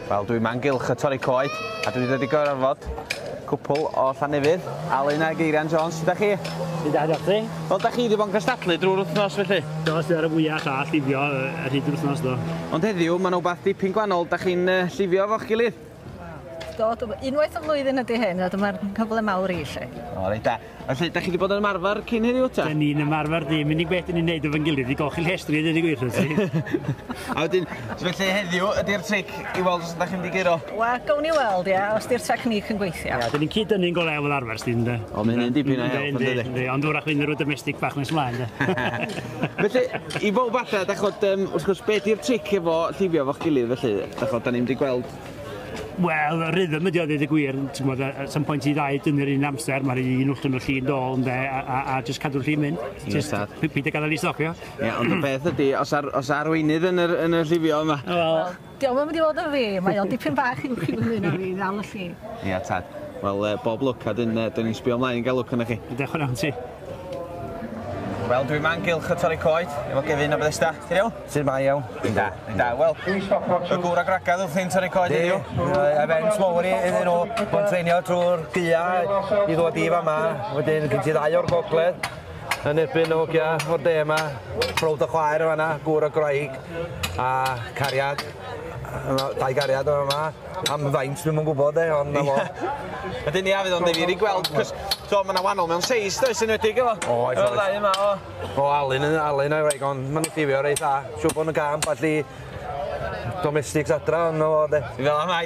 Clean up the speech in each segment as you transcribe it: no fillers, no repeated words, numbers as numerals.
Wel, dwi'n ma'n gylch y torri coed, a dwi wedi dod i gyfarfod cwpl o Llanefydd, Alun a Geirian Jones. Sut 'dach chi? Dwi'n da, diolch ti. Wel, 'dach chi wedi bod yn cystadlu drwy'r wythnos felly? Do, sydd ar y fwyaf llall llifio ar hyd yr wythnos, do. Ond heddiw, mae'n wbath dipyn gwahanol, 'dach chi'n llifio efo'ch gilydd? Do, unwaith y flwyddyn ydy hyn, a dyma'r cyfle mawr i chi. O, reit da. Felly, da chi wedi bod yn ymarfer cyn heddiw ta? Da ni'n ymarfer ddim, unig beth ni'n neud efo'n gilydd i golchi llestri, dweud y gwir wrth ti. A wedyn, felly heddiw ydy'r tric i weld os ydych chi'n mynd i guro? Wel, gawn ni weld, ia, os di'r technique yn gweithio. Ia, da ni'n cyd-dynnu'n go lew fel arfer, sdi, ynde? O, mae hynny'n dipyn o help, yn dydi? Yndi, ond wrach fynd rhyw domestic bach nes mlaen, de. Felly, i bob adra, da chod, wrth gwrs, be di'r tric efo llifio efo'ch gilydd, felly? Da chod, da ni'n mynd i gweld. Wel, y rhythm ydi o, dweud y gwir, ti'n gwbod, at some point i ddau dynnu'r un amser, mae'r un wrthyn nhw llun dôl, ynde, a just cadw'r llun mynd. Just peidio gadael i stopio. Ie, ond y peth ydi, os, ar, os arweinydd yn y llifio yma. Wel, Dio'm yn mynd i fod yn fi, mae o'n dipyn bach uwch i fyny na fi, ddal y lli. Ia, tad. Wel, bob lwc, a dyn, dyn ni'n sbio ymlaen i gael lwc arnoch chi. Diolch yn fawr ti. Wel, dwi'n ma'n gylch y torri coed, efo Gefin o Bethesda. Ti'n iawn? Sut mae iawn? Da, da. Wel, y gŵr a gwragedd wrthi'n torri coed heddiw. Event mawr iddyn nhw. Mae'n treinio trwy'r gaea i ddod i fama. Wedyn, gen ti ddau o'r gogledd yn erbyn o hogia o'r de yma. Brawd a chwaer yma, gŵr a gwraig a cariad. Dau gariad yma. Am faint dwi'm yn gwybod de, ond na fo. Wedyn ia, fydd o'n ddifyr i gweld, cos so, mae yna wahanol mewn seis, does, yn enwedig efo. Oes, Efo'r oes. ddau yma, o. O, Alun a'i wraig, ond maen nhw'n llifio reit dda. Siŵr bod nhw'n gamp allu domestics adra, ond na fo de. Fel am mai.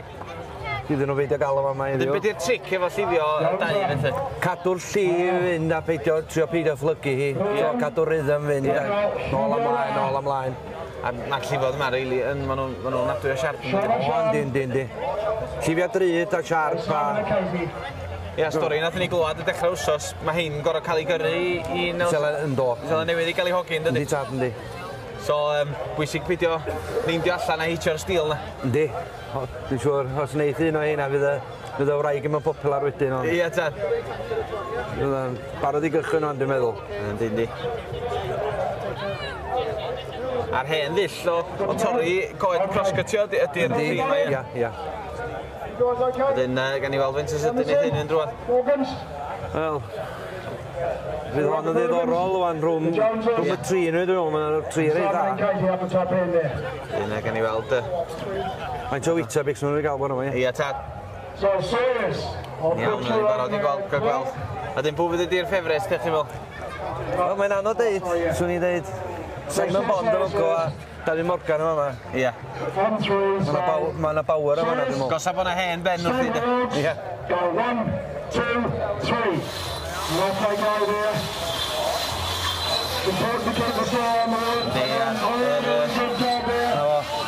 Iddyn nhw beidio gael o fama Wedyn, heddiw. be di'r tric efo llifio dau, felly? Cadw'r llif fynd a peidio, trio peidio fflygu hi. So, cadw'r rhythm fynd. Nôl ymlaen, nôl ymlaen. A mae'r llifodd yma, rili, yn, maen nhw'n ma nhw ofnadwy o siarp. O, yndi, yndi, yndi. Llifia drud a siarp a... Ia, stori nath ni glwad y dechrau wsos, mae hein gorau cael ei gyrru i Seland yn do. Seland Newydd i gael ei hogi, yn dydi? Yndi, tad, yndi. So, bwysig peidio neindio allan a hitio'r steel na. Yndi. O, dwi'n siŵr, os wneith un o heina, fydd y wraig ddim yn popular wedyn, ond Ia, tad. fydd o'n barod i gychwyn o'n, dwi'n meddwl. Yndi, yndi. A'r hen ddull o torri coed cross-cutio ydy'r Yndi, theme, ie. ia, ia. Wedyn, gan i weld faint o sydyn i hyn yn drwad. Wel, fydd hon yn ddiddorol wan rhwng y tri nhw, dwi'n meddwl, mae'n tri reit dda. Wedyn, gan i weld... Faint o Weetabix maen nhw wedi gael bod yma, ie. Ia, tad. Iawn, yn barod i gweld, gael gweld. A dyn, pwy fydd ydi'r ffefryn, ydych chi'n meddwl? Wel, mae'n anodd deud, swn i'n deud Simon Bond yn go a David Morgan yma. Ia. Mae yna power yma, dwi'n meddwl. Gosa bod 'na hen ben wrth i, de. Ia. Go 1, 2, 3. Lovely go there. Important to keep the ball on the road. Yndi, ia. Good job there. Na fo.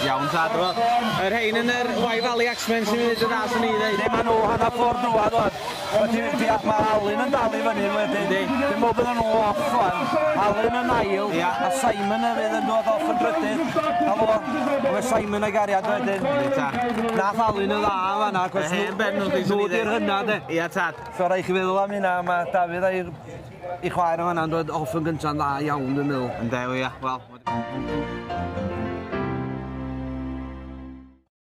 Iawn, tad. Wel, yr hein yn yr Wye Valley Axemen sy'n mynd i dda, swn i ddeud. Ne, maen nhw hanner ffordd drwad wan. Mae Alun yn dal i fyny wedyn. Yndi. Dwi'n meddwl bydden nhw off wan. Alun yn ail, Ia. a Simon hefyd yn dod off yn drydydd. A fo, mae Simon a'i gariad wedyn. Yndi, tad. Nath Alun yn dda fan'na, Y hen ben nhw, swn nhw i ddeud. di'r hynna, de. Ia, tad. So rhaid chi feddwl am hynna, mae Dafydd a'i i chwaer yn fan'na yn dod off yn gynta'n dda iawn, dwi'n meddwl. Ynde, ia. Wel.